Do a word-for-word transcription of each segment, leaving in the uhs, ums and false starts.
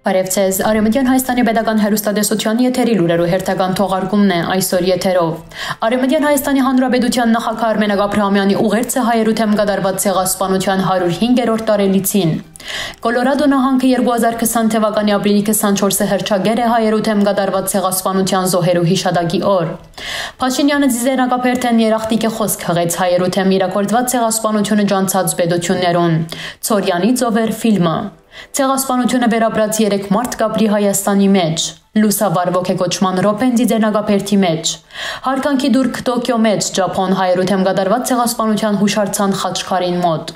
Բարև ձեզ։ Արևմտյան Հայաստանի պետական հեռուստատեսության եթերի լուրերու հերթական թողարկումն է այսօր եթերով։ Արևմտյան Հայաստանի Հանրապետության նախագահ Արմենակ Աբրահամյանի ուղերձը հայերու դէմ կատարուած ցեղասպանութեան հարիւր հինգերորդ տարելիցին։ Կոլորադո նահանգը երկու հազար քսան թեւականի ապրիլի քսանչորսը հռչակեր է հայերու դէմ կատարուած ցեղասպանութեան զոհերու յիշատակի օր։ Փաշինեանը ձիզերնակաբերդէն երախտիկի խօսք յղեց հայերու դէմ իրագործուած ցեղասպանութիւնը ջանցած պետութիւններուն։ Ցորեանի ծովեր ֆիլմը։ Ցեղասպանութիւնը վերապրած երեք մարդ կապրի Հայաստանի մէջ։ Լուսավար ոգեկոչման րոպեն ձիզերնակաբերդի մէջ։ Յարգանքի տուրք Տոկիո մէջ Ճափոն հայերու դէմ կատարուած ցեղասպանութեան յուշարձան խաչքարին մօտ։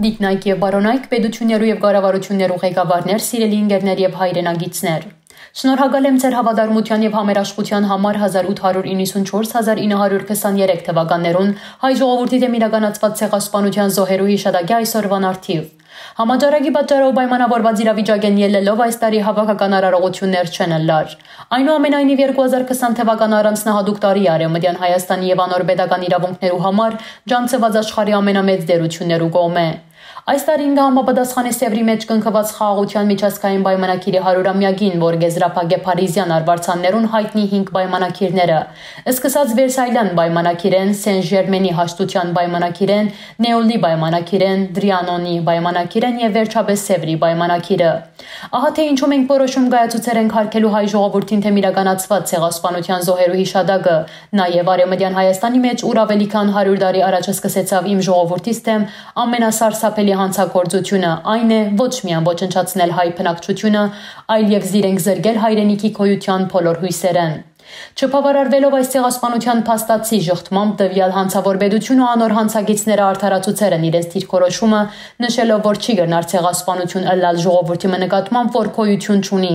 Դիկնայք եւ Բարոնայք պետութիւններու եւ կառավարութիւններու ղեկավարներ, սիրելի ընկերներ եւ հայրենակիցներ։ Շնորհակալ եմ ձեր հաւատարմութեան եւ համերաշխութեան համար հազար ութ հարիւր իննսունչորս, հազար ինը հարիւր քսաներեք թեւականներուն հայ ժողովուրդի դէմ իրականացուած ցեղասպանութեան զոհերու յիշատակի այսօրուան առթիւ։ Համաճարակի պատճառով պայմանաւորուած իրավիճակէն ելլելով այս տարի հաւաքական արարողութիւններ չեն ըլլար։ Այնուամենայնիվ, երկու հազար քսան թեւական առանձնահատուկ տարի է Արեւմտեան Հայաստանի եւ անոր պետական իրաւունքներու համար ջանցուած աշխարհի ամենամեծ տէրութիւններու կողմէ։ Այս տարին կը համապատասխանի Սեւրի մէջ կնքուած խաղաղութեան միջազգային պայմանագիրի հարիւրամեակին, որ կ'եզրափակէ փարիզեան արուարձաններուն յայտնի հինգ պայմանագիրները, սկսած Վերսայլեան պայմանագիրէն, Սեն Ժերմենի հաշտութեան պայմանագիրէն, Նեոլի պայմանագիրէն, Տրիանոնի պայմանագիրէն եւ վերջապէս Սեւրի պայմանագիրը։ Ահա թե ինչու մենք որոշում կայացուցեր ենք յարգելու հայ ժողովուրդին դէմ իրականացուած ցեղասպանութեան զոհերու յիշատակը, նաեւ Արեւմտեան Հայաստանի մէջ, ուր աւելի քան հարիւր տարի առաջ սկսեցաւ իմ ժողովուրդիս դէմ ամենասարսափելի հանցագործությունը, այն է ոչ միայն ոչնչացնել հայ բնակչութիւնը, այլ եւ զիրենք զրկել հայրենիքի գոյութեան բոլոր յոյսերէն։ Չբաւարարուելով այս ցեղասպանութեան փաստացի ժխտմամբ, տուեալ հանցաւոր պետութիւնը ու անոր հանցագիծները արդարացուցեր են իրենց դիրքորոշումը, նշելով, որ չի կրնար ցեղասպանութիւն ըլլալ ժողովուրդի մը նկատմամբ, որ գոյութիւն չունի։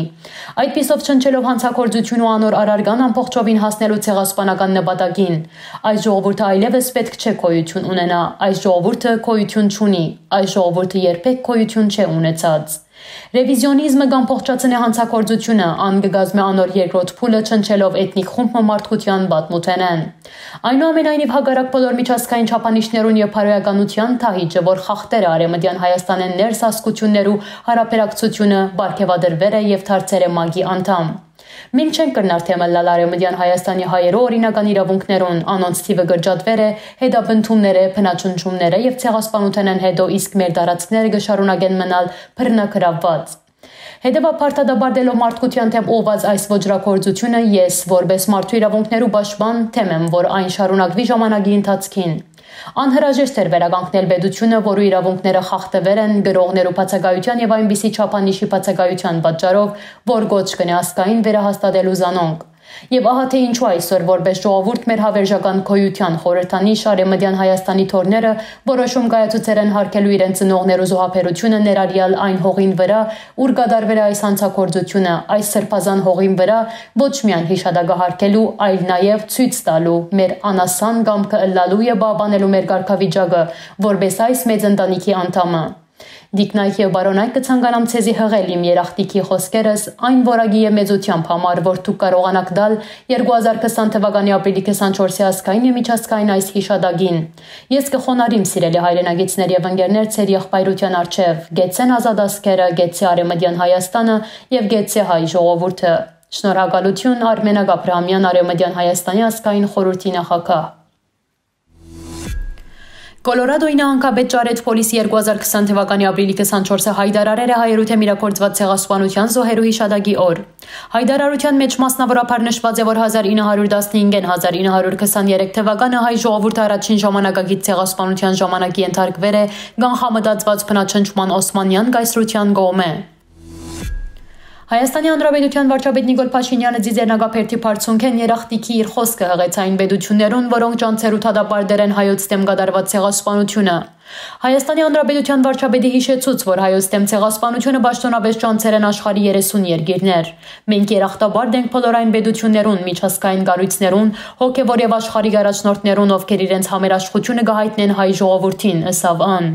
Այդպիսով, չնչելով հանցագործութիւն ու անոր առարկան, ամբողջովին հասնելու ցեղասպանական նպատակին։ Այս ժողովուրդը այլեւս պէտք չէ գոյութիւն ունենայ, այս ժողովուրդը գոյութիւն չունի, այս ժողովուրդը երբեք գոյութիւն չէ ունեցած։ Ռևիզիոնիզմը կ'ամբողջացնէ հանցագործութիւնը, ան կը կազմէ անոր երկրորդ փուլը, չնչելով էթնիկ խումբ մը մարդկութեան պատմութենէն։ Այնուամենայնիվ, հակառակ բոլոր միջազգային չափանիշներուն եւ բարոյականութեան, Թահիճը, որ խախտեր է Արեւմտեան Հայաստանէն ներս ազգութիւններու յարաբերակցութիւնը, պարգեւատրուեր է եւ դարձեր է մակի անդամ։ Մենք չենք կրնար դէմ ըլլալ Արեւմտեան Հայաստանի հայերու օրինական իրաւունքներուն, անոնց թիւը կրճատուեր է հետապնդումներէ, բնաջնջումներէ եւ ցեղասպանութենէն յետոյ, իսկ մեր տարածքները կը շարունակեն մնալ բռնագրաւուած։ Հետեւաբար, դատապարտելով մարդկութեան դէմ ուղղուած այս ոճրագործութիւնը, ես, որպէս մարդու իրաւունքներու պաշտպան, դէմ եմ, որ այն շարունակուի ժամանակի ընթացքին։ Անհրաժեշտ էր վերականգնել պետութիւնը, որու իրաւունքները խախտուեր են, գրողներու բացակայութեան եւ այնպիսի չափանիշի բացակայութեան պատճառով, որ կոչ կ'ընէ ազգային վերահաստատելու զանոնք։ Եւ ահա թե ինչու այսօր, որպէս ժողովուրդ, մեր հաւերժական գոյութեան խորհրդանիշ, Արեւմտեան Հայաստանի թոռները որոշում կայացուցեր են յարգելու իրենց ծնողներու զոհաբերութիւնը, ներառյալ այն հողին վրայ, ուր կատարուեր է այս հանցագործութիւնը, այս սրբազան հողին վրայ ոչ միայն յիշատակը յարգելու, այլ նաեւ ցոյց տալու մեր անասան կամքը ըլլալու եւ պահպանելու մեր կարգավիճակը, որպէս այս մեծ ընտանիքի անդամը։ Դիկնայք եւ Բարոնայք, կը ցանկանամ ձեզի յղել իմ երախտիկի խօսքերս այն որակի եւ մեծութեամբ համար, որ դուք կարողանաք տալ երկու հազար քսան թվականի ապրիլի քսանչորսի ազգային եւ միջազգային այս յիշատակին։ Ես կը խոնարհիմ, սիրելի հայրենակիցներ եւ ընկերներ, ձեր եղբայրութեան առջեւ, կեցցեն ազատ ազգերը, կեցցէ Արեւմտեան Հայաստանը եւ կեցցէ հայ ժողովուրդը։ Շնորհակալութիւն, Արմենակ Աբրահամեան, Արեւմտեան Հայաստանի ազգային խորհուրդի նախագահ։ Կոլորադոյի նահանգապետ Ճարեթ Փոլիսը երկու հազար քսան թվականի ապրիլի քսանչորսը յայտարարեր է հայերու դէմ իրագործուած ցեղասպանութեան զոհերու յիշատակի օր։ Յայտարարութեան մէջ մասնաւորաբար նշուած է, որ հազար ինը հարիւր տասնհինգէն հազար ինը հարիւր քսաներեք թվականը հայ ժողովուրդը առաջին ժամանակակից ցեղասպանութեան ժամանակ ենթարկուեր է կանխամտածուած բնաջնջման Օսմանեան կայսրութեան կողմէ։ Հայաստանի Հանրապետության վարչապետ Նիկոլ Փաշինեանը ձիզերնակաբերդի բարձունքէն երախտիքի իր խօսքը յղեց այն պետութիւններուն, որոնք ջանցերու դատապարտեր են հայոց դէմ կատարուած ցեղասպանութիւնը։ Հայաստանի Հանրապետության վարչապետը յիշեցուց, որ հայոց դէմ ցեղասպանութիւնը պաշտօնապէս ջանցեր են աշխարհի երեսուն երկիրներ։ «Մենք երախտապարտ ենք բոլոր այն պետութիւններուն, միջազգային կառոյցներուն, հոգեւոր եւ աշխարհիկ առաջնորդներուն, ովքեր իրենց համերաշխութիւնը կը յայտնեն հայ ժողովուրդին», ըսաւ ան։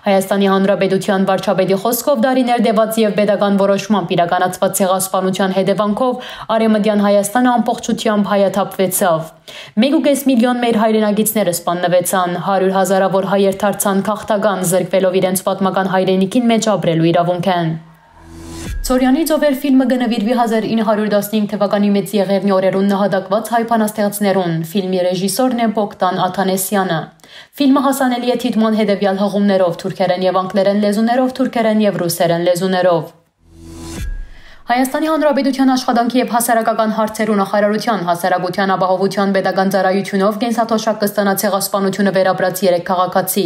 Հայաստանի Հանրապետության վարչապետի խօսքով, տարիներ տեւած եւ պետական որոշմամբ իրականացված ցեղասպանութեան հետեւանքով Արեւմտեան Հայաստանը ամբողջությամբ հայաթափուեցաւ։ Մէկ ու կէս միլիոն մեր հայրենակիցները սպաննուեցան, հարիւր հազարաւոր հայեր դարձան գաղթական, զրկուելով իրենց պատմական հայրենիքին մէջ ապրելու իրաւունքէն։ Սորեանի ծովեր ֆիլմը կը նուիրուի հազար ինը հարիւր տասնհինգ թվականի Մեծ Եղեռնի օրերուն նահատակուած հայ բանաստեղծներուն։ Ֆիլմի ռեժիսորն է Բոգդան Աթանեսեանը։ Ֆիլմը հասանելի է դիտման հետեւեալ հղումներով՝ թուրքերէն եւ անգլերէն լեզուներով, թուրքերէն եւ ռուսերէն լեզուներով։ Հայաստանի Հանրապետութեան աշխատանքի եւ հասարակական հարցերու նախարարութեան հասարակութեան ապահովութեան պետական ծառայութիւնով կենսաթոշակ կը ստանայ ցեղասպանութիւնը վերապրած երեք քաղաքացի։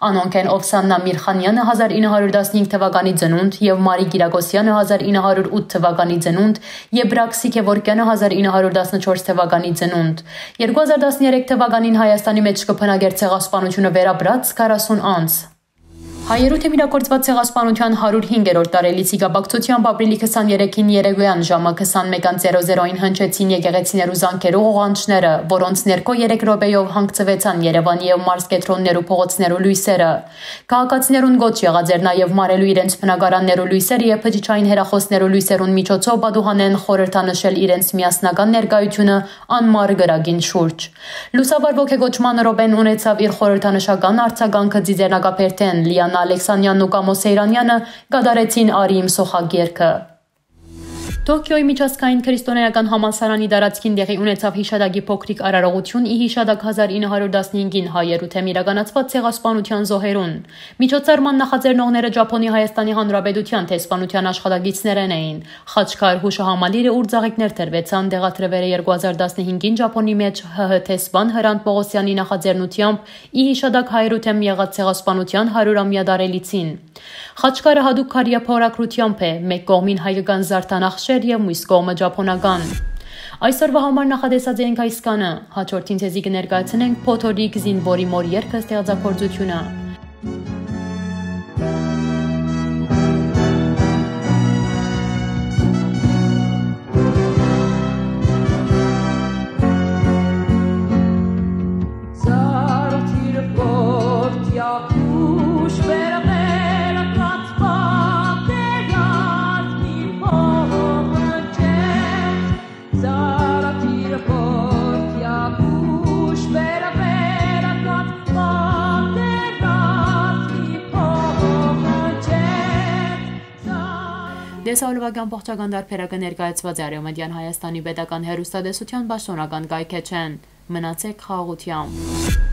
Անոնք են Օվսաննա Միրխանեանը՝ հազար ինը հարիւր տասնհինգ թվականի ծնունդ, եւ Մարի Կիրակոսեանը՝ հազար ինը հարիւր ութ թվականի ծնունդ, եւ Բրաքսի Գեորգեանը՝ հազար ինը հարիւր տասնչորս թվականի ծնունդ։ Երկու հազար տասներեք թվականին Հայաստանի մէջ կը բնակէր ցեղասպանութիւնը վերապրած քառասուն անձ։ Հայերու դէմ իրագործուած ցեղասպանութեան հարիւր հինգերորդ տարելիցի կապակցութեամբ ապրիլի քսաներեքին երեկոյեան ժամը քսանմէկ անձ զերոյին հնչեցին եկեղեցիներու զանգերու ղողանջները, որոնց ներքո երեք րոպեով հանգցուեցան Երեւանի եւ մարզկեդրոններու փողոցներու լոյսերը։ Քաղաքացիներուն կոչ եղած էր նաեւ մարելու իրենց բնակարաններու լոյսերը եւ բջջային հեռախօսներու լոյսերուն միջոցով պատուհանէն խորհրդանշել իրենց միասնական ներկայութիւնը անմար կրակին շուրջ։ Լուսաբար ոգեկոչման րոպեն ունեցաւ իր խորհրդանշական արձագանքը Ծիծեռնակաբերդէն։ Լիանա Ալեքսանյանն ու Կամո Սեյրանյանը կատարեցին «Արի իմ սոխագերքը»։ Թոքիոյի միջազգային քրիստոնէական համալսարանի տարածքին տեղի ունեցաւ յիշատակի փոքրիկ արարողութիւն՝ ի յիշատակ հազար ինը հարիւր տասնհինգին հայերու դէմ իրականացուած ցեղասպանութեան զոհերուն։ Միջոցառման նախաձեռնողները Ճափոնի Հայաստանի Հանրապետութեան դեսպանութեան աշխատակիցներէն էին։ Խաչքար յուշահամալիրը, ուր ծաղիկներ տրուեցան, տեղադրուեր է երկու հազար տասնհինգին Ճափոնի մէջ Յ Յ դեսպան Հրանդ Պողոսեանի նախաձեռնութեամբ՝ ի յիշատակ հայերու դէմ եղած ցեղասպանութեան հարիւրամեայ տարելիցին։ Խաչքարը յատուկ քարեափորագրութեամբ է, մէկ կողմին հայկական զարդանախշեր եւ միւս կողմը ճափոնական։ Այսօրուայ համար նախատեսած էինք այսքանը։ Յաջորդին ձեզի կը ներկայացնենք Փոթորիկ զինուորի մօր երգը ստեղծագործութիւնը։ Տեսահոլովակի ամբողջական տարբերակը ներկայացուած է Արեւմտյան Հայաստանի պետական հեռուստատեսության պաշտօնական կայքէջէն։ Մնացեք խաղաղութեամբ։